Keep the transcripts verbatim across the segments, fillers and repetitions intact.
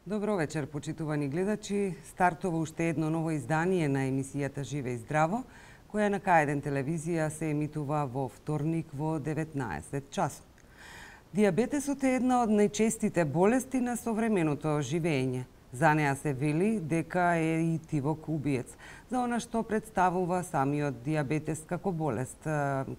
Добро вечер, почитувани гледачи. Стартува уште едно ново издание на емисијата Живе и здраво, која на К еден телевизија се емитува во вторник во деветнаесет часот. Дијабетесот е една од најчестите болести на современото живење. За неа се вели дека е и тивок убиец, за она што представува самиот дијабетес како болест,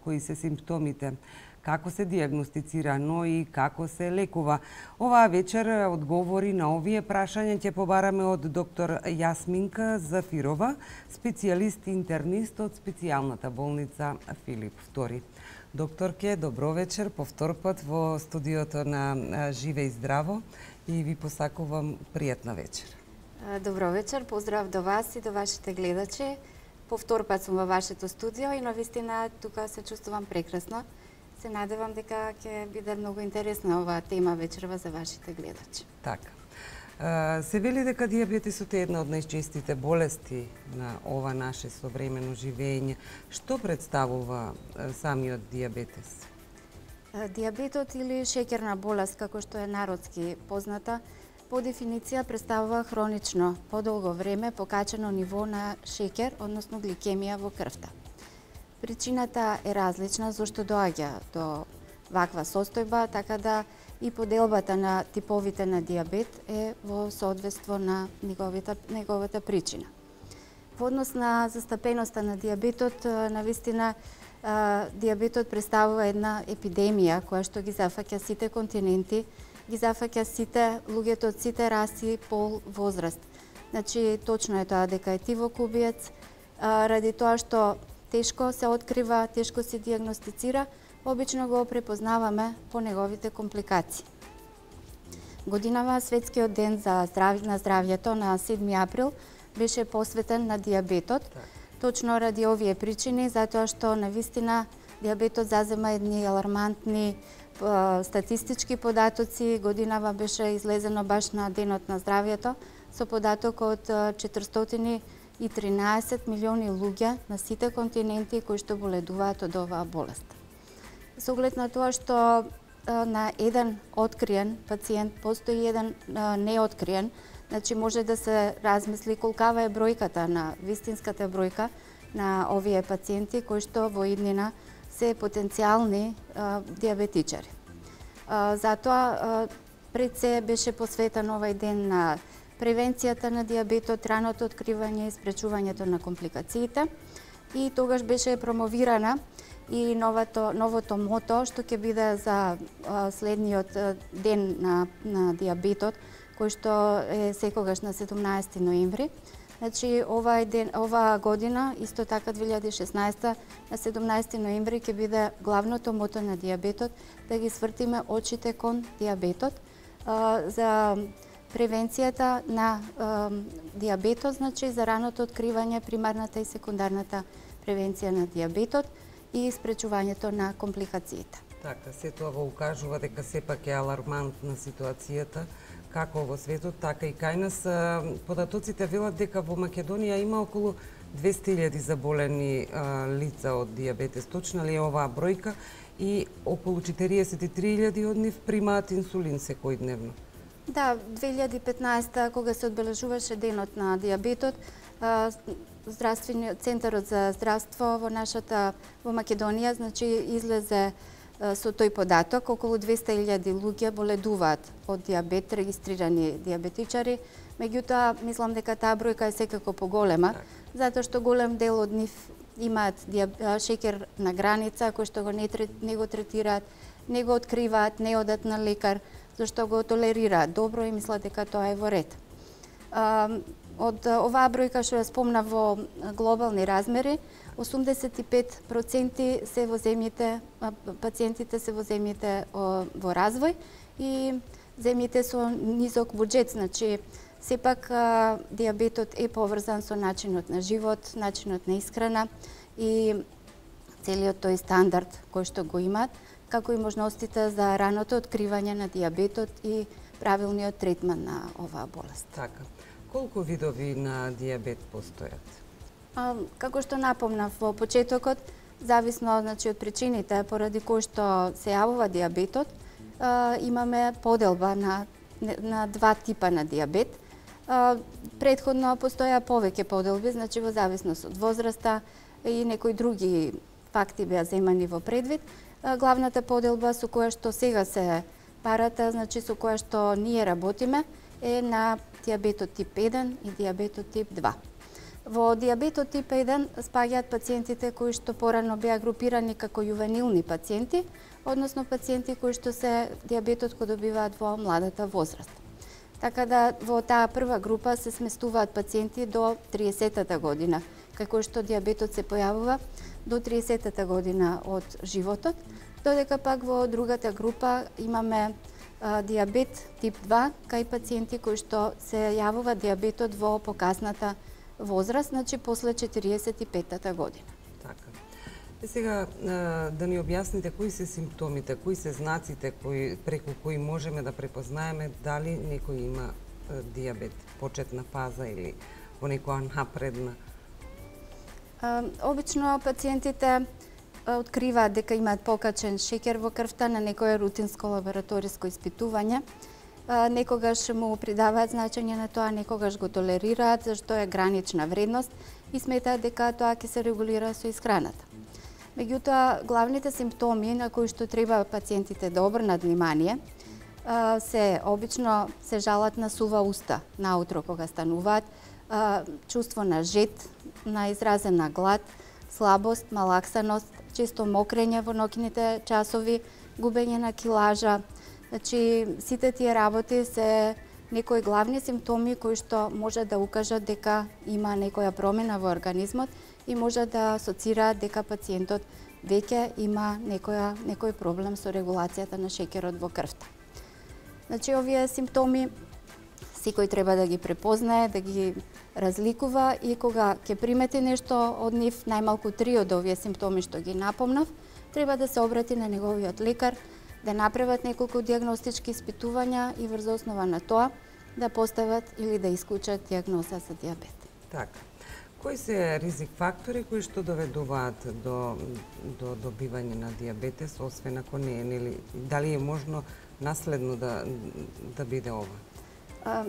кои се симптомите, како се дијагностицира, но и како се лекува. Оваа вечер одговори на овие прашања ќе побараме од доктор Јасминка Зафирова, специјалист интернист од специјалната болница Филип втори. Докторке, добро вечер, повтор пат во студиото на Живе и здраво и ви посакувам пријатна вечер. Добро вечер, поздрав до вас и до вашите гледачи. Повтор пат сум во вашето студио и навистина тука се чувствувам прекрасно. Се надевам дека ќе биде многу интересна оваа тема вечерва за вашите гледачи. Така. Се вели дека дијабетесот е една од најчестите болести на ова наше современо живење. Што представува самиот дијабетес? Дијабетот или шеќерна болест, како што е народски позната, по дефиниција представува хронично, подолго време покачено ниво на шеќер, односно гликемија во крвта. Причината е различна зашто доаѓа до ваква состојба, така да и поделбата на типовите на дијабет е во соодветство на неговата, неговата причина. Во однос на застапеноста на дијабетот, навистина дијабетот представува една епидемија која што ги зафаќа сите континенти, ги зафаќа сите луѓето од сите раси, пол, возраст. Значи, точно е тоа дека е тивок убиец, ради тоа што тешко се открива, тешко се дијагностицира, обично го препознаваме по неговите компликации. Годинава Светскиот ден за здрави, на здравјето на седми април беше посветен на дијабетот, точно ради овие причини, затоа што навистина дијабетот зазема едни алармантни статистички податоци. Годинава беше излезено баш на денот на здравјето со податок од четиристотини и тринаесет милиони луѓе на сите континенти кои што боледуваат од оваа болест. Со оглед на тоа што на еден откриен пациент постои еден неоткриен, значи може да се размисли колкава е бројката на вистинската бројка на овие пациенти кои што во иднина се потенцијални дијабетичари. Затоа пред се беше посветен овај ден на превенцијата на дијабетот, раното откривање и спречувањето на компликациите, и тогаш беше промовирана и новото, новото мото што ќе биде за следниот ден на, на дијабетот, кој што е секогаш на седумнаесети ноември. Значи, овај ден, оваа година, исто така две илјади и шеснаесета, на седумнаесети ноември ќе биде главното мото на дијабетот, да ги свртиме очите кон дијабетот, за превенцијата на дијабетот, значи за раното откривање, примарната и секундарната превенција на дијабетот и спречувањето на компликациите. Така, се тоа го укажува дека сепак е алармантна ситуацијата, како во светот, така и кај нас. Податоците велат дека во Македонија има околу двесте илјади заболени а, лица од дијабетес. Точна ли е оваа бројка? И околу четириесет и три илјади од нив примаат инсулин секојдневно. Да, две илјади и петнаесета, кога се одбележуваше денот на дијабетот, здравствениот центарот за здравство во нашата во Македонија, значи излезе со тој податок, околу двесте илјади луѓе боледуваат од дијабет, регистрирани дијабетичари. Меѓутоа, мислам дека таа бројка е секако поголема, затоа што голем дел од нив имаат шеќер на граница, кој што го не, не го третираат, не го откриваат, не одат на лекар, зашто го толерираат добро и мислат дека тоа е во ред. Од оваа бројка што ја спомна во глобални размери, осумдесет и пет проценти се во земјите, пациентите се во земјите во развој и земјите со низок буџет, значи сепак дијабетот е поврзан со начинот на живот, начинот на исхрана и целиот тој стандард кој што го имаат, како и можностите за раното откривање на дијабетот и правилниот третман на оваа болест. Така. Колку видови на дијабет постојат? А, како што напомнав во почетокот, зависно значи од причините поради кои што се јавува дијабетот, а, имаме поделба на на два типа на дијабет. А, предходно постоја повеќе поделби, значи во зависност од возраста и некои други факти беа земани во предвид. А, главната поделба со која што сега се парата, значи со која што ние работиме, е на дијабетот тип еден и дијабетот тип два. Во дијабетот тип еден спаѓаат пациентите кои што порано беа групирани како јувенилни пациенти, односно пациенти кои што се дијабетот кој добиваат во младата возраст. Така да во таа прва група се сместуваат пациенти до триесеттата година, како што дијабетот се појавува до триесеттата година од животот, додека пак во другата група имаме а, дијабет тип два, кај пациенти кои што се јавува дијабетот во покасната возраст, значи после четириесет и петтата година. Така. И сега да ни објасните кои се симптомите, кои се знаците кои преку кои можеме да препознаеме дали некој има дијабет, почетна фаза или во некоја напредна? А, обично пациентите откриваат дека имаат покачен шеќер во крвта на некое рутинско лабораториско испитување. Некогаш му придаваат значење на тоа, некогаш го толерираат, зашто е гранична вредност и сметаат дека тоа ќе се регулира со исхраната. Меѓутоа, главните симптоми на кои што треба пациентите да обрнат внимание се обично се жалат на сува уста наутро кога стануваат, чувство на жед, на изразена глад, слабост, малаксаност, често мокрење во ноќните часови, губење на килажа. Значи, сите тие работи се некои главни симптоми кои што може да укажат дека има некоја промена во организмот и може да асоцираат дека пациентот веќе има некоја, некој проблем со регулацијата на шеќерот во крвта. Значи, овие симптоми секој треба да ги препознае, да ги разликува и кога ќе примети нешто од нив, најмалку три од овие симптоми што ги напомнав, треба да се обрати на неговиот лекар, да направат неколку дијагностички испитувања и врз основа на тоа да постават или да исклучат дијагноза за дијабет. Така. Кои се ризик фактори кои што доведуваат до до добивање на дијабетес, освен ако не е, нели, дали е можно наследно да да биде ова? А,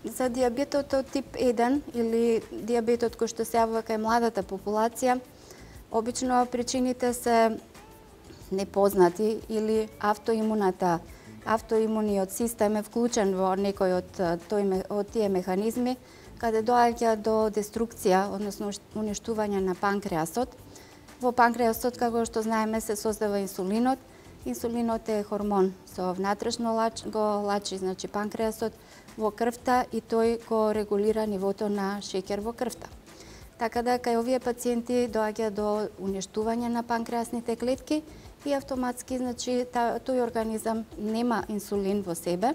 за дијабетот од тип еден или дијабетот кој што се јавува кај младата популација, обично причините се непознати или автоимуната, автоимуниот систем е вклучен во некој од тој од тие механизми каде доаѓа до деструкција, односно уништување на панкреасот. Во панкреасот, како што знаеме, се создава инсулинот. Инсулинот е хормон со внатрешно лач, го лачи, значи панкреасот во крвта и тој го регулира нивото на шеќер во крвта. Така да кај овие пациенти доаѓа до уништување на панкреасните клетки и автоматски, значи, тој организам нема инсулин во себе,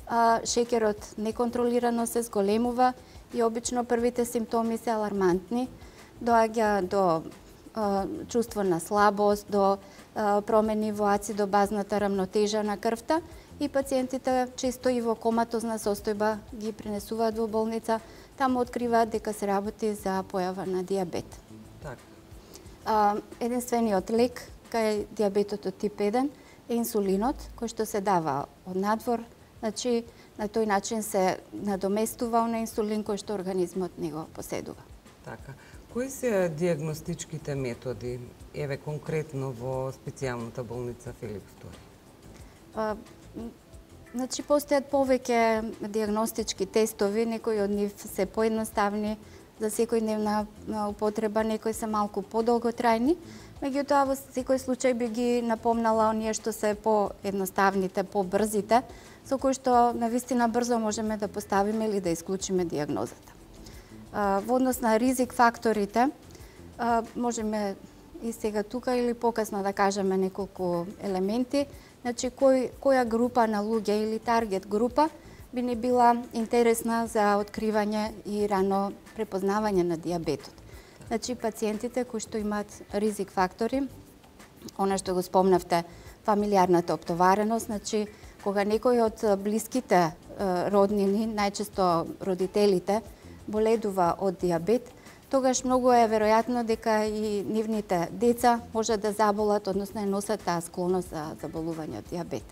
а шеќерот неконтролирано се зголемува и обично првите симптоми се алармантни. Доаѓа до а, чувство на слабост, до а, промени во ацидо-базната рамнотежа на крвта и пациентите често и во коматозна состојба ги пренесуваат во болница, таму откриваат дека се работи за појава на дијабет. Так. А, единствениот лек кај дијабетот од тип еден е инсулинот, кој што се дава од надвор, значи на тој начин се надоместува на инсулин кој што организмот не го поседува. Така. Кои се дијагностичките методи, еве конкретно во специјалната болница Филип втори? А, значи постојат повеќе дијагностички тестови, некои од нив се поедноставни за секојдневна употреба, некои се малку подолготрајни. Меѓутоа, во секој случај би ги напомнала оние што се поедноставните, побрзите, со кои што навистина брзо можеме да поставиме или да исклучиме дијагнозата. Во однос на ризик факторите, можеме и сега тука или покасно да кажеме неколку елементи. Значи, кој, која група на луѓе или таргет група би ни била интересна за откривање и рано препознавање на дијабетот. Значи, пациентите кои што имаат ризик фактори, она што го спомнавте, фамилиарната оптовареност, значи, кога некој од блиските роднини, најчесто родителите, боледува од дијабет, тогаш многу е веројатно дека и нивните деца може да заболат, односно носат таа склоност за заболување од дијабет.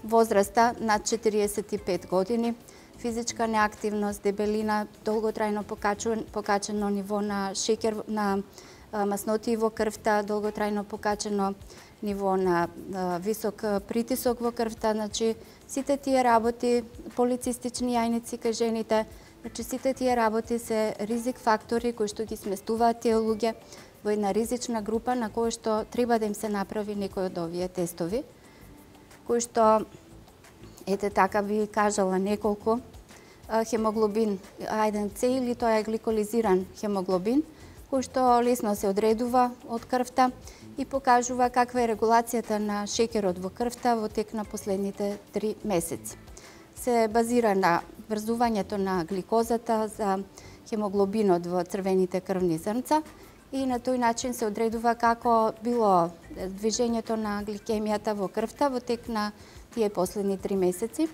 Возраста над четириесет и пет години, физичка неактивност, дебелина, долготрајно покачено ниво на шеќер, на масноти во крвта, долготрајно покачено ниво на висок притисок во крвта, значи сите тие работи, полицистични јајници кај жените, значи сите тие работи се ризик фактори кои што ги сместуваат тие луѓе во една ризична група на која што треба да им се направи некој од овие тестови, кои што, ете така би кажала неколку, хемоглобин А еден С или тоа е гликолизиран хемоглобин, кој што лесно се одредува од крвта и покажува каква е регулацијата на шеќерот во крвта во тек на последните три месеци. Се базира на врзувањето на гликозата за хемоглобинот во црвените крвни зрнца и на тој начин се одредува како било движењето на гликемијата во крвта во тек на тие последни три месеци.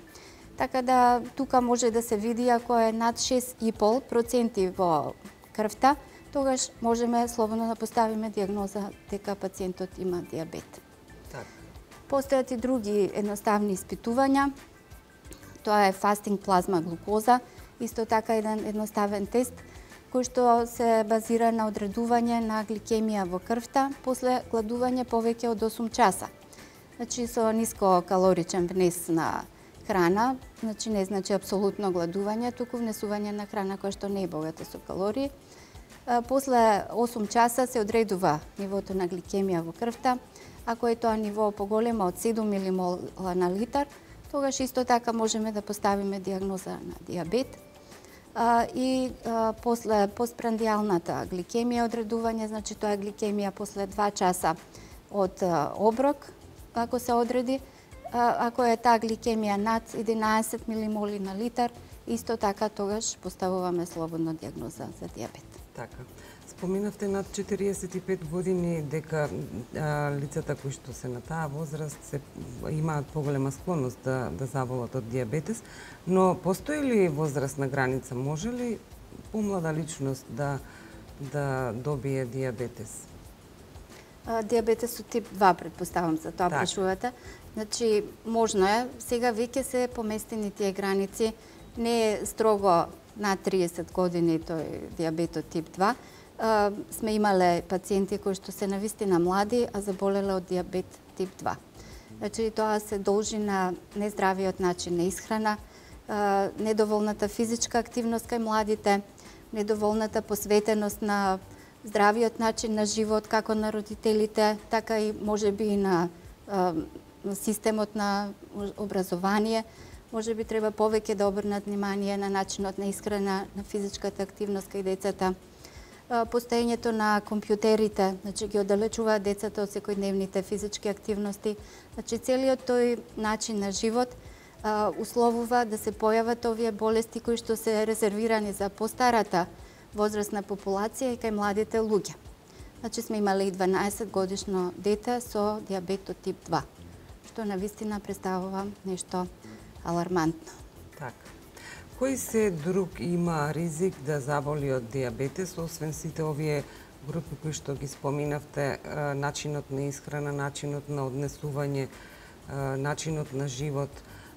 Така да тука може да се види ако е над шест и пол проценти во крвта, тогаш можеме слободно да поставиме дијагноза дека пациентот има дијабет. Так. Постојат и други едноставни испитувања. Тоа е фастинг плазма глукоза, исто така еден едноставен тест кој што се базира на одредување на гликемија во крвта после гладување повеќе од осум часа. Значи со ниско калоричен внес на храна, значи не значи апсолутно гладување, туку внесување на храна која што не е богата со калории. После осум часа се одредува нивото на гликемија во крвта. Ако е тоа ниво поголемо од седум милимола на литар, тогаш исто така можеме да поставиме дијагноза на дијабет. И после постпрандијалната гликемија одредување, значи тоа е гликемија после два часа од оброк, ако се одреди. Ако е таа гликемија над единаесет милимоли на литар, исто така тогаш поставуваме слободно дијагноза за дијабет. Така. Споминавте над четириесет и пет години дека а, лицата кои што се на таа возраст се имаат поголема склоност да да заболат од дијабетес, но постои ли возрастна граница? Може ли помлада личност да да добие дијабетес? Дијабетес од тип два, предпоставам, за тоа прашувате. Значи, можно е, сега веќе се поместени тие граници, не е строго над триесет години тој дијабетот тип два. А, сме имале пациенти кои што се навистина млади, а заболеле од дијабет тип два. Значи, тоа се должи на нездравиот начин на исхрана, а, недоволната физичка активност кај младите, недоволната посветеност на здравиот начин на живот, како на родителите, така и можеби и на а, системот на образование. Може би треба повеќе да обрнат внимание на начинот на исхрана, на физичката активност кај децата. Постоењето на компјутерите, значи ги оддалечуваат децата од секојдневните физички активности. Значи целиот тој начин на живот а, условува да се појават овие болести кои што се резервирани за постарата возрастна популација и кај младите луѓе. Значи сме имале и дванаесет годишно дете со дијабет од тип два, што навистина представува нешто алармантно. Така. Кој се друг има ризик да заболи од дијабетес, освен сите овие групи кои што ги споминавте, начинот на исхрана, начинот на однесување, начинот на живот?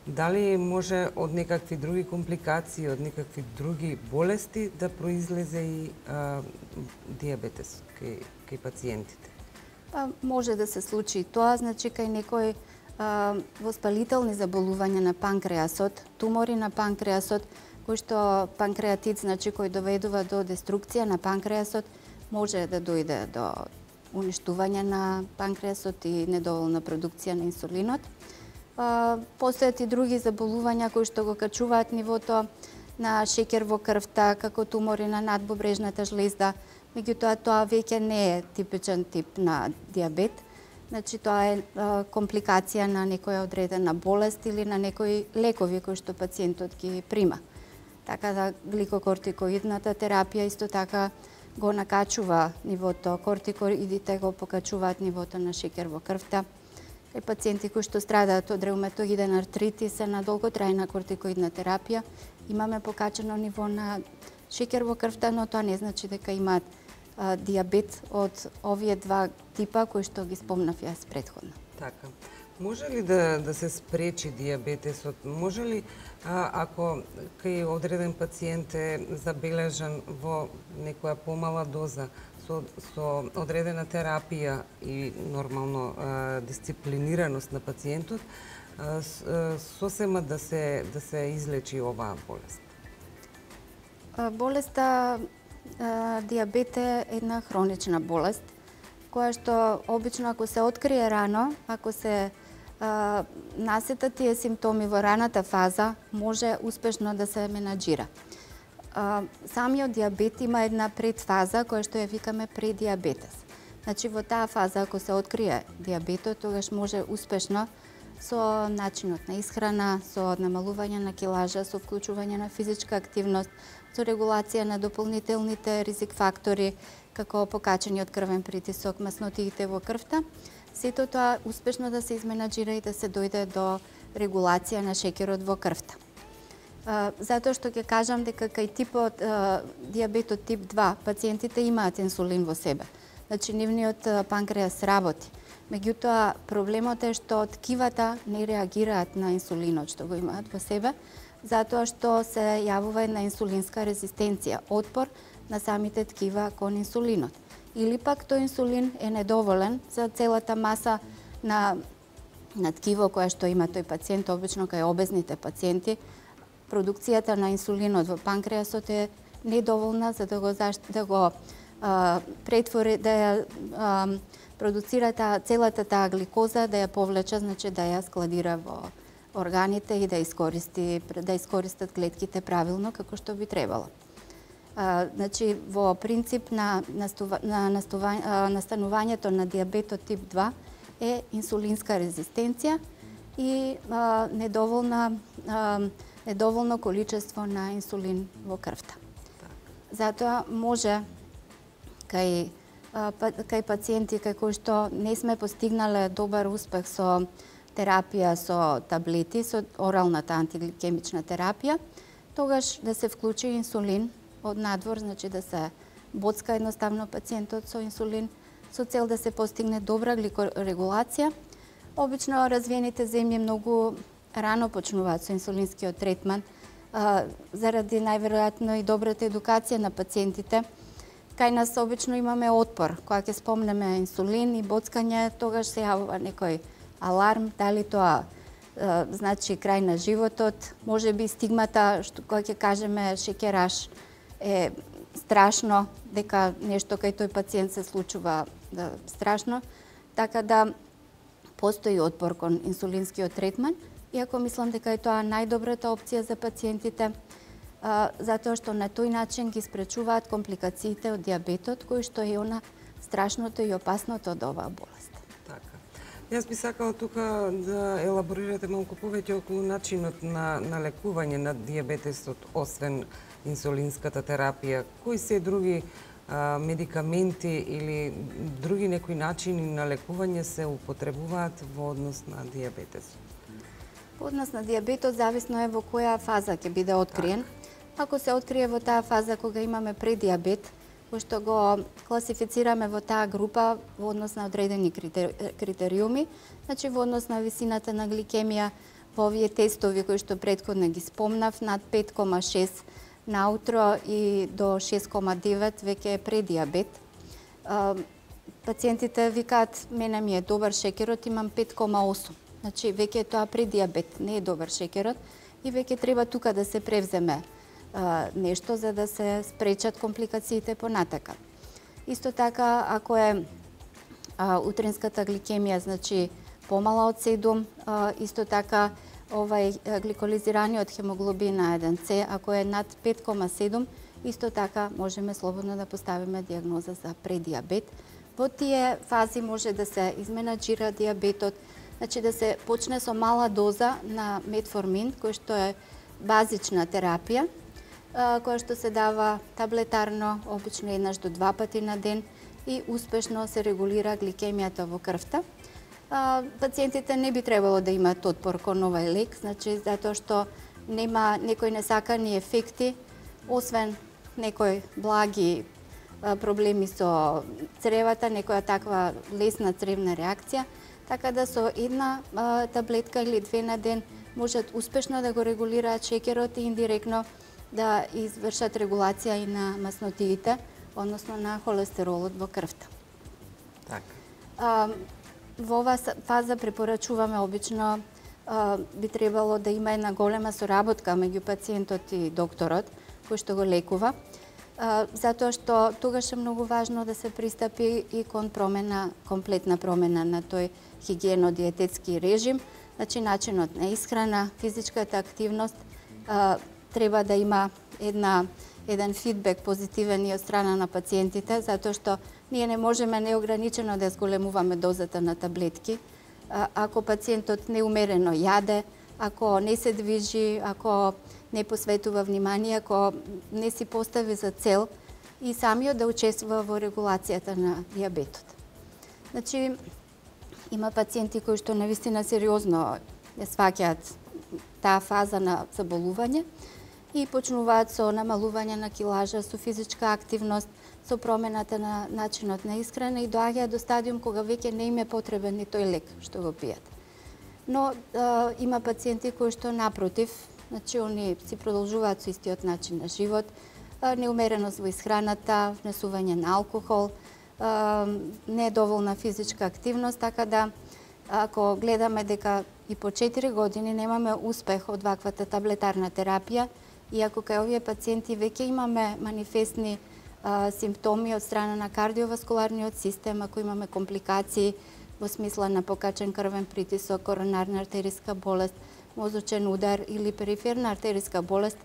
Дали може од некакви други компликации, од некакви други болести да произлезе и а, дијабетес кај, кај пациентите? Па, може да се случи тоа, значи кај некој а, воспалителни заболувања на панкреасот, тумори на панкреасот, кој што панкреатит, значи кој доведува до деструкција на панкреасот, може да дојде до уништување на панкреасот и недоволна продукција на инсулинот. Постојат и други заболувања кои што го качуваат нивото на шеќер во крвта, како тумори на надбобрежната жлезда. Меѓутоа, тоа веќе не е типичен тип на дијабет. Значи тоа е а, компликација на некоја одредена болест или на некои лекови кои што пациентот ги прима. Така да гликокортикоидната терапија исто така го накачува нивото, кортикоидите го покачуваат нивото на шеќер во крвта. Кај пациенти кои што страдаат од реуматоиден артритис на долготрајна кортикоидна терапија, имаме покачено ниво на шеќер во крвта, но тоа не значи дека имаат а, диабет од овие два типа кои што ги спомнав јас претходно. Така. Може ли да, да се спречи диабетесот? Може ли, а, ако кај одреден пациент е забележан во некоја помала доза, со, со одредена терапија и нормално а, дисциплинираност на пациентот, а, сосема да се, да се излечи оваа болест? Болеста а, диабет е една хронична болест, која што обично ако се открие рано, ако се а, насетат тие симптоми во раната фаза, може успешно да се менаџира. А, самиот диабет има една предфаза која што ја викаме предиабетес. Значи во таа фаза ако се открие диабетот, тогаш може успешно со начинот на исхрана, со намалување на килажа, со вклучување на физичка активност, со регулација на дополнителните ризик фактори, како покачениот крвен притисок, маснотиите во крвта, сето тоа успешно да се изменаџира и да се дојде до регулација на шеќерот во крвта. Затоа што ќе кажам дека кај типот а, диабетот тип два пациентите имаат инсулин во себе. Значи нивниот панкреас работи. Меѓутоа проблемот е што ткивата не реагираат на инсулинот што го имаат во себе, затоа што се јавува една инсулинска резистенција, отпор на самите ткива кон инсулинот. Или пак тој инсулин е недоволен за целата маса на, на ткиво која што има тој пациент, обично кај обезните пациенти, продукцијата на инсулинот во панкреасот е недоволна за да го, да го а, претвори, да ја а, продуцира таа, целата таа гликоза, да ја повлече, значи да ја складира во органите и да искористи, да искористат клетките правилно како што би требало. А, значи во принцип на, настува, на настува, а, настанувањето на диабетот тип два е инсулинска резистенција и а, недоволна а, недоволно количество на инсулин во крвта. Затоа може кај кај пациенти кај кои што не сме постигнале добар успех со терапија со таблети, со оралната антигликемична терапија, тогаш да се вклучи инсулин од надвор, значи да се боцка едноставно пациентот со инсулин со цел да се постигне добра гликорегулација. Обично развиените земји многу рано почнуваат со инсулинскиот третман, а, заради најверојатно и добрата едукација на пациентите. Кај нас обично имаме отпор, кога ќе спомнеме инсулин и боцкање, тогаш се јавува некој аларм, дали тоа а, значи крај на животот, може би стигмата, што кога ќе кажеме шеќераш е страшно, дека нешто кај тој пациент се случува да, страшно, така да постои отпор кон инсулинскиот третман, иако мислам дека е тоа најдобрата опција за пациентите, а, затоа што на тој начин ги спречуваат компликациите од диабетот, кои што е она страшното и опасното од оваа болест. Така. Јас би сакала тука да елаборирате малку повеќе околу начинот на, на лекување на диабетесот, освен инсулинската терапија. Кои се други а, медикаменти или други некои начини на лекување се употребуваат во однос на диабетесот? По однос на диабетот зависно е во која фаза ќе биде откриен. Ако се открие во таа фаза кога имаме предиабет, кој што го класифицираме во таа група во однос на одредени критериуми, значи во однос на висината на гликемија, во овие тестови кои што претходно ги спомнав, над пет кома шест наутро и до шест кома девет веќе е предиабет. Пациентите викаат, мене ми е добар шеќерот, имам пет кома осум. Значи, веќе е тоа предиабет, не е добар шеќерот и веќе треба тука да се превземе а, нешто за да се спречат компликациите понатака. Исто така, ако е а, утринската гликемија, значи помала од седум, а, исто така овај гликолизираниот хемоглобин А еден С, ако е над пет кома седум, исто така можеме слободно да поставиме диагноза за предиабет, во тие фази може да се изменаџира дијабетот, значи да се почне со мала доза на метформин, кој што е базична терапија, која што се дава таблетарно, обично еднаш до два пати на ден и успешно се регулира гликемијата во крвта. Пациентите не би требало да имаат отпор кон овај лек, значи затоа што нема некои несакани ефекти, освен некои благи проблеми со цревата, некоја таква лесна цревна реакција, така да со една а, таблетка или две на ден можат успешно да го регулираат шеќерот и индиректно да извршат регулација и на маснотиите, односно на холестеролот во крвта. Така. А, во оваа фаза препорачуваме обично а, би требало да има една голема соработка меѓу пациентот и докторот кој што го лекува, а, затоа што тогаш е многу важно да се пристапи и кон промена, комплетна промена на тој хигиено-диететски режим, значи начинот на исхрана, физичката активност, а, треба да има една еден фидбек позитивен и од страна на пациентите, затоа што ние не можеме неограничено да зголемуваме дозата на таблетки. А, ако пациентот неумерено јаде, ако не се движи, ако не посветува внимание, ако не си постави за цел и самиот да учествува во регулацијата на дијабетот. Значи, има пациенти кои што навистина сериозно ја сваќаат таа фаза на заболување и почнуваат со намалување на килажа, со физичка активност, со промената на начинот на исхрана и доаѓаат до стадиум кога веќе не им е потребен ни тој лек што го пијат. Но а, има пациенти кои што напротив, значи они си продолжуваат со истиот начин на живот, а, неумереност во исхраната, внесување на алкохол, а, недоволна физичка активност, така да ако гледаме дека и по четири години немаме успех од ваквата таблетарна терапија, и ако кај овие пациенти веќе имаме манифестни а, симптоми од страна на кардиоваскуларниот систем, ако имаме компликации во смисла на покачен крвен притисок, коронарна артериска болест, мозочен удар или периферна артериска болест,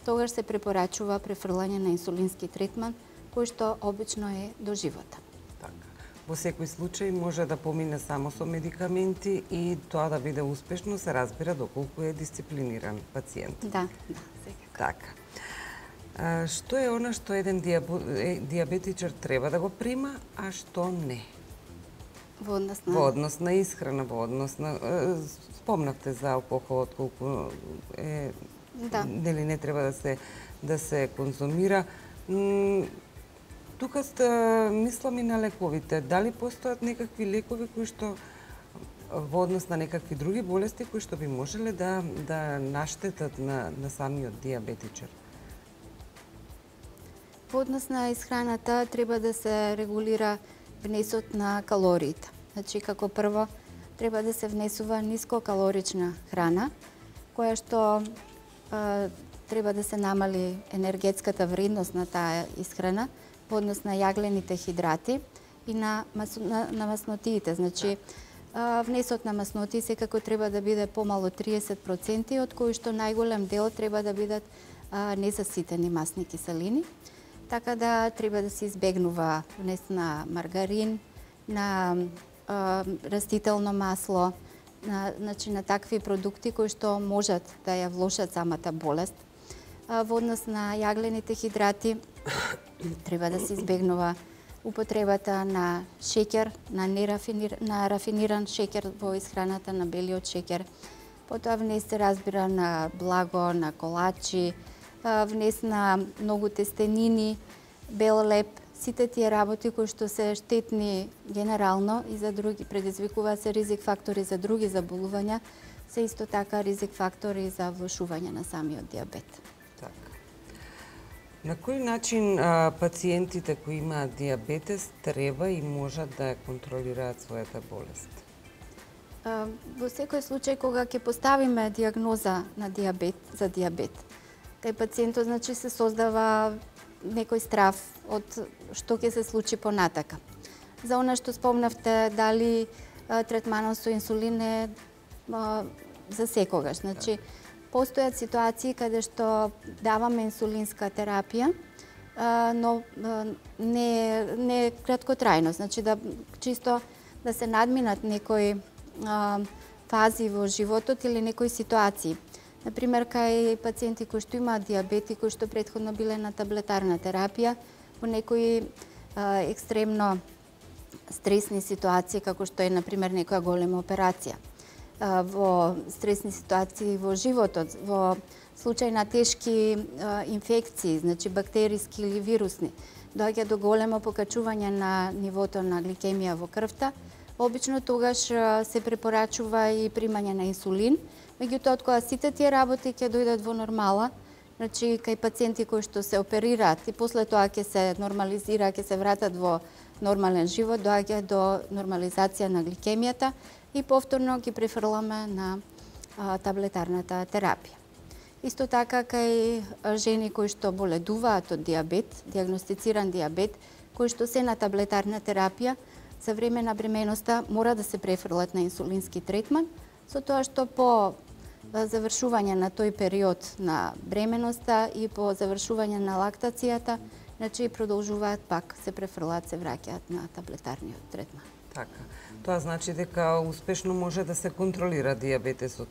тогаш се препорачува префрлање на инсулински третман, кој што обично е до живота. Така. Во секој случај може да помине само со медикаменти и тоа да биде успешно се разбира доколку е дисциплиниран пациент. Да, да, секако. Така. А, што е она што еден диабетичар треба да го прима, а што не? Во однос на... Во однос на исхрана, во однос на... Спомнавте за алкохолот, колку е... Да. Нели не треба да се, да се конзумира. М, тука сте, мислам и на лековите. Дали постојат некакви лекови кои што во однос на некакви други болести кои што би можеле да, да наштетат на, на самиот диабетичар? Во однос на исхраната треба да се регулира внесот на калориите. Значи, како прво, треба да се внесува нискокалорична храна, која што а, треба да се намали енергетската вредност на таа исхрана во однос на јаглените хидрати и на, мас, на, на маснотиите. Значи, а, внесот на маснотии секако треба да биде помало триесет проценти, од кои што најголем дел треба да бидат а, незаситени масни киселини. Така да треба да се избегнува внес на маргарин, на а, растително масло, на, значи, на такви продукти кои што можат да ја влошат самата болест. А, во однос на јаглените хидрати треба да се избегнува употребата на шеќер, на нерафинир, на рафиниран шеќер во исхраната, на белиот шеќер. Потоа внес се разбира на благо, на колачи, внес на многу тестенини, бел леп, сите тие работи кои што се штетни генерално и за други, предизвикуваат се ризик фактори за други заболувања, се исто така ризик фактори за влошување на самиот диабет. Така. На кој начин а, пациентите кои имаат диабетес треба и можат да ја контролираат својата болест? А, во секој случај кога ќе поставиме диагноза на диабет за диабет, кај пациентот значи се создава некој страв од што ќе се случи понатака. За она што спомнавте, дали а, третманот со инсулин е а, за секогаш. Значи, постојат ситуации каде што даваме инсулинска терапија но не не краткотрајно, значи да чисто да се надминат некои фази во животот или некои ситуации. Например, кај пациенти кои што имаат дијабет и кои што претходно биле на таблетарна терапија, во некои екстремно стресни ситуации, како што е, например, некоја голема операција. Во стресни ситуации во животот, во случај на тешки инфекции, значи бактериски или вирусни, доаѓа до големо покачување на нивото на гликемија во крвта. Обично тогаш се препорачува и примање на инсулин, меѓутоа кога сите тие работи ќе дојдат во нормала, значи кај пациенти кои што се оперираат и после тоа ќе се нормализира, ќе се вратат во нормален живот, доаѓа до нормализација на гликемијата и повторно ги префрламе на а, таблетарната терапија. Исто така кај жени кои што боледуваат од дијабет, дијагностициран дијабет, кои што се на таблетарна терапија, за време на бременоста мора да се префрлат на инсулински третман, со тоа што по завршување на тој период на бременоста и по завршување на лактацијата, значи продолжуваат пак, се префрлаат, се враќаат на таблетарниот третман. Така. Тоа значи дека успешно може да се контролира дијабетесот.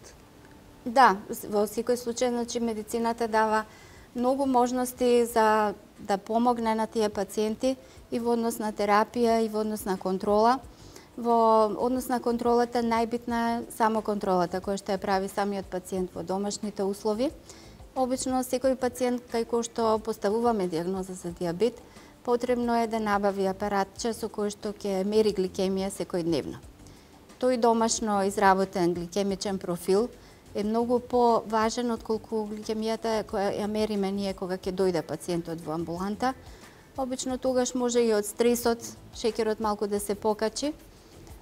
Да, во секој случај, значи медицината дава многу можности за да помогне на тие пациенти и во однос на терапија и во однос на контрола. Во однос на контролата најбитна е само контролата која што ја прави самиот пациент во домашните услови. Обично секој пациент кај кој што поставуваме дијагноза за дијабет, потребно е да набави апаратче со кој што ќе мери гликемија секојдневно. Тој домашно изработен гликемичен профил е многу поважен отколку гликемијата која ја мериме ние кога ќе дојде пациентот во амбуланта. Обично тогаш може и од стресот шеќерот малку да се покачи.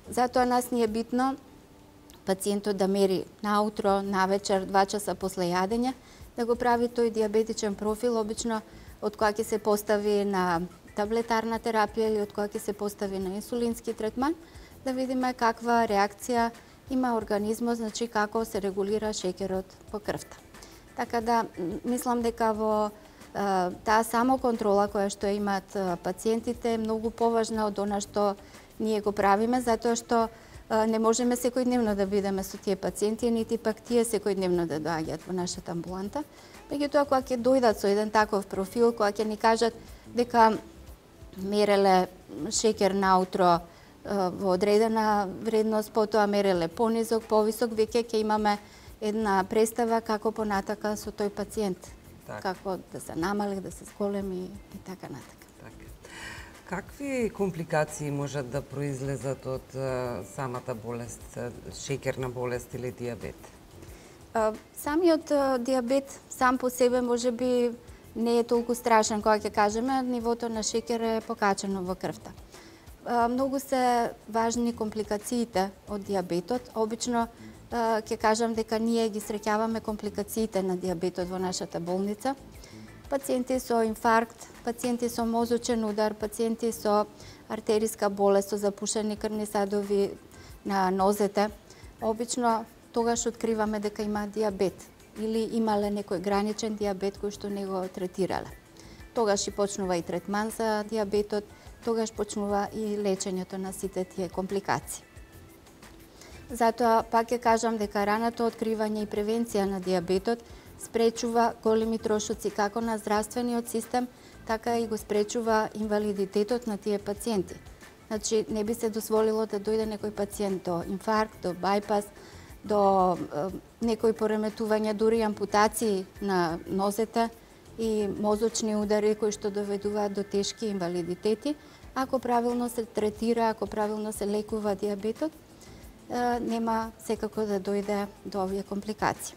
Затоа нас ни е битно пациентот да мери наутро, навечер, два часа после јадење, да го прави тој дијабетичен профил, обично од која ќе се постави на таблетарна терапија или од која ќе се постави на инсулински третман, да видиме каква реакција има организмот, значи како се регулира шеќерот во крвта. Така да, мислам дека во таа самоконтрола која што имаат пациентите е многу поважна од она што ние го правиме, затоа што не можеме секојдневно да бидеме со тие пациенти, нити пак тие секојдневно да доаѓаат во нашата амбуланта. Меѓутоа, кога ќе дојдат со еден таков профил, кога ќе ни кажат дека мереле шеќер наутро во одредена вредност, потоа мереле понизок, повисок, веќе ќе имаме една представа како понатака со тој пациент. Так. Како да се намали, да се зголеми и така натака. Так. Какви компликации можат да произлезат од самата болест, шеќерна болест или дијабет? Самиот дијабет сам по себе можеби не е толку страшен кога ќе кажеме, нивото на шеќер е покачено во крвта. Многу се важни компликациите од дијабетот. Обично ќе кажам дека ние ги среќаваме компликациите на дијабетот во нашата болница. Пациенти со инфаркт, пациенти со мозочен удар, пациенти со артериска болест, со запушени крвни садови на нозете. Обично тогаш откриваме дека има дијабет или имале некој граничен дијабет кој што не го третирале. Тогаш и почнува и третман за дијабетот, тогаш почнува и лечењето на сите тие компликации. Затоа пак ќе кажам дека раното откривање и превенција на дијабетот спречува големи трошоци како на здравствениот систем, така и го спречува инвалидитетот на тие пациенти. Значи, не би се дозволило да дојде некој пациент до инфаркт, до бајпас, до е, некои пореметувања, дури ампутации на нозете и мозочни удари кои што доведуваат до тешки инвалидитети. Ако правилно се третира, ако правилно се лекува дијабетот, нема секако да дојде до овие компликации.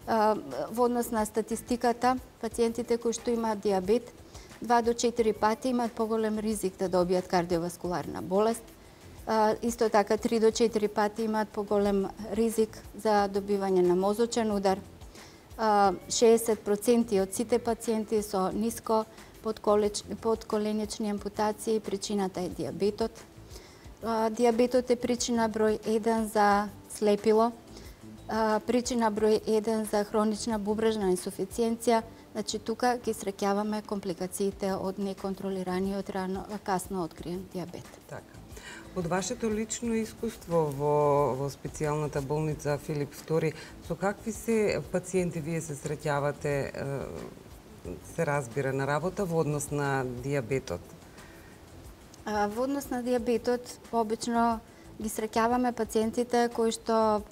Во однос на статистиката, пациентите кои што имаат дијабет, два до четири пати имаат поголем ризик да добијат кардиоваскуларна болест. Исто така три до четири пати имаат поголем ризик за добивање на мозочен удар. шеесет проценти од сите пациенти со ниско подколенични ампутации, причината е дијабетот. Дијабетот е причина број еден за слепило. причина број еден за хронична бубрежна инсуфициенција, значи тука ги среќаваме компликациите од неконтролираниот рано касно откриен дијабет. Така. Од вашето лично искуство во, во специјалната болница Филип втори, со какви се пациенти вие се среќавате, се разбира, на работа во однос на дијабетот? А, во однос на дијабетот, обично ги среќаваме пациентите кои што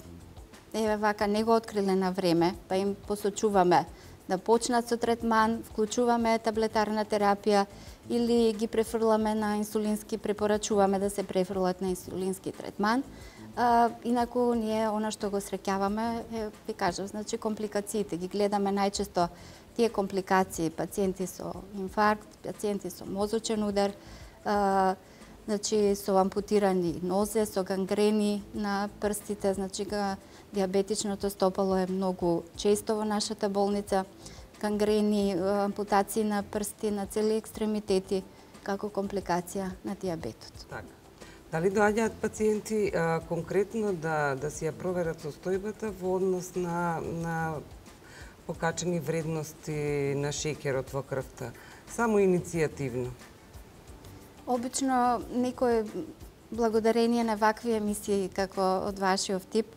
еве вака не го откриле на време, па им посочуваме да почнат со третман, вклучуваме таблетарна терапија или ги префрламе на инсулински, препорачуваме да се префрлат на инсулински третман. А, инаку ние она што го среќаваме е, ви кажам, значи компликациите ги гледаме најчесто тие компликации, пациенти со инфаркт, пациенти со мозочен удар, а, значи со ампутирани нозе, со гангрени на прстите, значи дијабетичното стопало е многу често во нашата болница, гангрени, ампутации на прсти, на цели екстремитети, како компликација на дијабетот. Така. Дали доаѓаат пациенти а, конкретно да, да си ја проверат состојбата во однос на, на покачени вредности на шеќерот во крвта? Само иницијативно? Обично, некој, благодарение на вакви емисии, како од вашиот тип,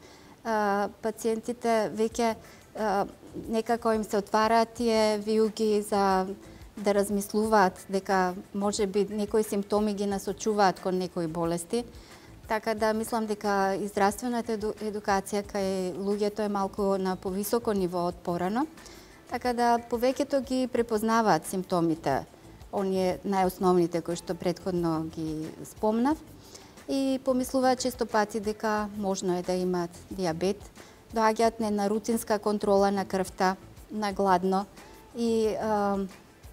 пациентите веќе некако им се отвараат тие виуги за да размислуваат дека може би некои симптоми ги насочуваат кон некои болести. Така да мислам дека и здравствената едукација кај луѓето е малку на повисоко ниво од порано. Така да повеќето ги препознаваат симптомите, оние најосновните кои што претходно ги спомнав, и помислуваат често пати дека можно е да имаат дијабет, доаѓаат не на рутинска контрола на крвта, на гладно и а,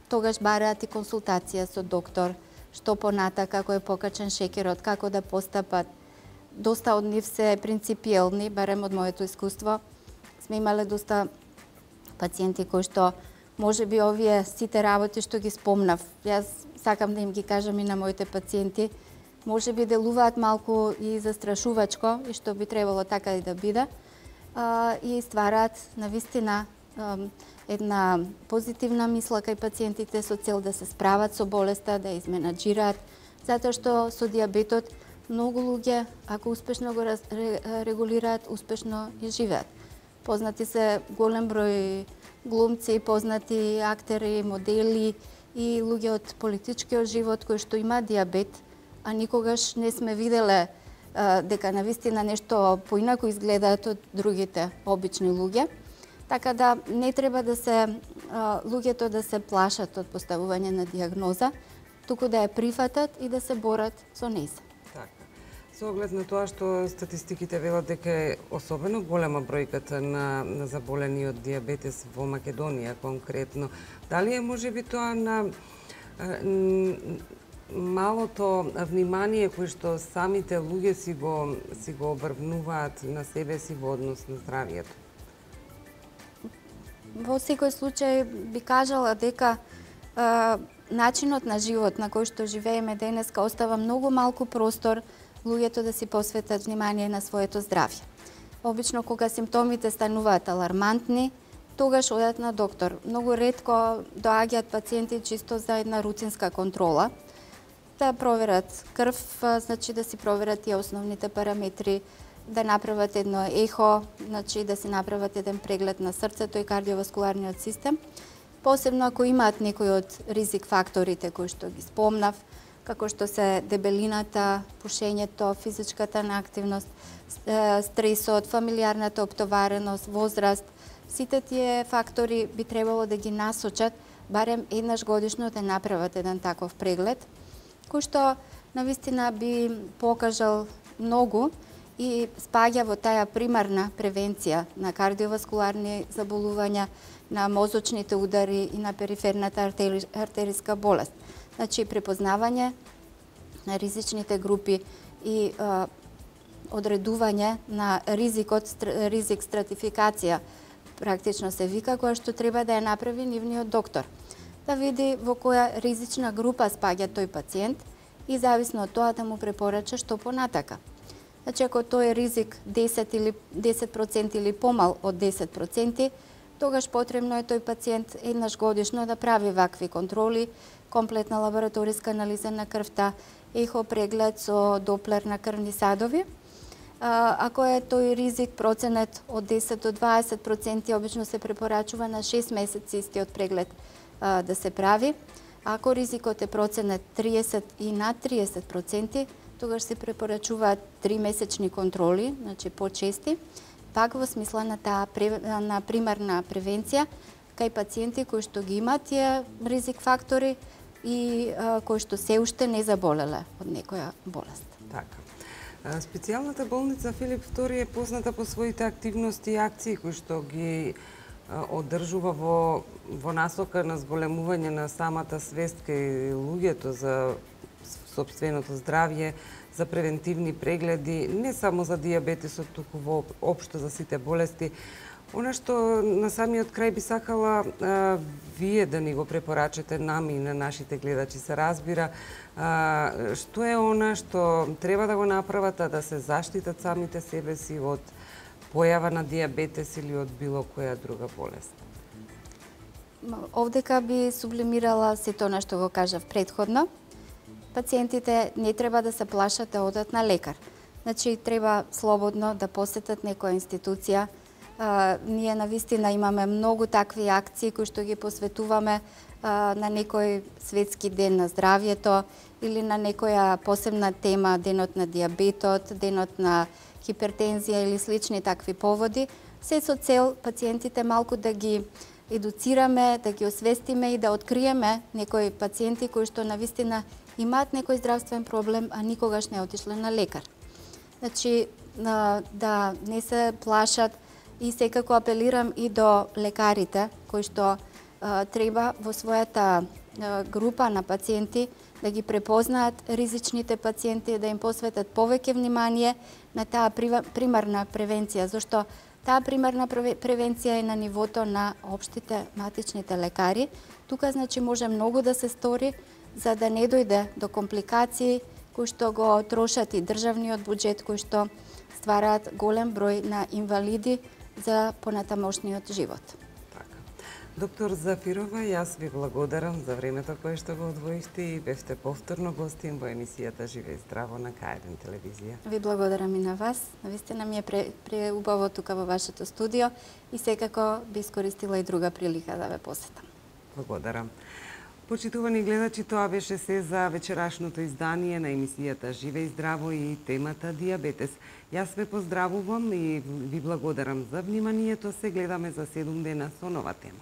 тогаш бараат и консултација со доктор, што понатака, како е покачен шеќерот, како да постапат. Доста од нив се принципиелни, барем од моето искуство. Сме имале доста пациенти кои што може би овие сите работи што ги спомнав, јас сакам да им ги кажам и на моите пациенти, може би делуваат малку и застрашувачко, и што би требало така и да биде, а, и ствараат навистина една позитивна мисла кај пациентите со цел да се справат со болеста, да изменаџираат, затоа што со дијабетот многу луѓе, ако успешно го регулираат, успешно и живеат. Познати се голем број глумци, познати актери, модели и луѓе од политичкиот живот кои што има дијабет, а никогаш не сме виделе а, дека навистина нешто поинаку изгледаат од другите обични луѓе. Така да не треба да се а, луѓето да се плашат од поставување на дијагноза, туку да ја прифатат и да се борат со нејза. Така. Со оглед на тоа што статистиките велат дека е особено голема бројката на, на заболени од дијабетес во Македонија конкретно, дали е можеби тоа на малото внимание кој што самите луѓе си го, си го обрвнуваат на себе си во однос на здравието? Во секој случај би кажала дека а, начинот на живот на кој што живееме денеска остава многу малку простор луѓето да си посветат внимание на своето здравје. Обично кога симптомите стануваат алармантни, тогаш одат на доктор. Многу ретко доаѓаат пациенти чисто за една рутинска контрола, да проверат крв, значи да си проверат тие основните параметри, да направат едно ехо, значи да си направат еден преглед на срцето и кардиоваскуларниот систем. Посебно ако имаат некои од ризик факторите кои што ги спомнав, како што се дебелината, пушењето, физичката неактивност, стресот, фамилиарната оптовареност, возраст, сите тие фактори би требало да ги насочат барем еднаш годишно да направат еден таков преглед, кој што навистина би покажал многу и спаѓа во таа примарна превенција на кардиоваскуларни заболувања, на мозочните удари и на периферната артери, артериска болест. Значи, препознавање на ризичните групи и а, одредување на ризикот, ризик стратификација, практично се вика, која што треба да ја направи нивниот доктор. Да види во која ризична група спаѓа тој пациент и зависно од тоа да му препорача што понатака. Значи, ако тој е ризик десет или десет проценти или помал од десет проценти, тогаш потребно е тој пациент еднаш годишно да прави вакви контроли, комплетна лабораториска анализа на крвта, ехо преглед со доплер на крвни садови. Ако е тој ризик проценет од десет до дваесет проценти, обично се препорачува на шест месеци истиот преглед да се прави. Ако ризикот е проценет триесет и над триесет проценти, тогаш се препорачуваат три месечни контроли, значи почести, пак во смисла на таа на примарна превенција кај пациенти кои што ги имаат тие ризик фактори и а, кои што се уште не заболеле од некоја болест. Така. Специјалната болница Филип втори е позната по своите активности и акции кои што ги одржува во, во насока на зголемување на самата свест кај луѓето за сопственото здравје, за превентивни прегледи, не само за дијабетесот, туку во општо за сите болести. Она што на самиот крај би сакала а, вие да ни го препорачате нами и на нашите гледачи се разбира, а, што е она што треба да го направат, а да се заштитат самите себе си од појава на дијабетес или од било која друга болест? Овдека би сублимирала сето она што го кажав претходно. Пациентите не треба да се плашат да одат на лекар. Значи, треба слободно да посетат некоја институција. А, ние навистина имаме многу такви акции кои што ги посветуваме а, на некој светски ден на здравјето или на некоја посебна тема, денот на дијабетот, денот на хипертензија или слични такви поводи, се со цел пациентите малку да ги едуцираме, да ги освестиме и да откриеме некои пациенти кои што навистина имаат некој здравствен проблем, а никогаш не отишле на лекар. Значи, да не се плашат и секако апелирам и до лекарите кои што треба во својата група на пациенти да ги препознаат ризичните пациенти, да им посветат повеќе внимание на таа примарна превенција, зашто таа примарна превенција е на нивото на општите матичните лекари. Тука, значи, може многу да се стори за да не дојде до компликации кои што го трошат и државниот буџет, кои што ствараат голем број на инвалиди за понатамошниот живот. Така. Доктор Зафирова, јас ви благодарам за времето кое што го одвоивте и бевте повторно гостин во емисијата Живе и здраво на К еден телевизија. Ви благодарам и на вас. Навистина ми е преубаво тука во вашето студио и секако би искористила и друга прилика да ве посетам. Благодарам. Почитувани гледачи, тоа беше се за вечерашното издание на емисијата Живе и здраво и темата дијабетес. Јас ве поздравувам и ви благодарам за вниманието. Се гледаме за седум дена со нова тема.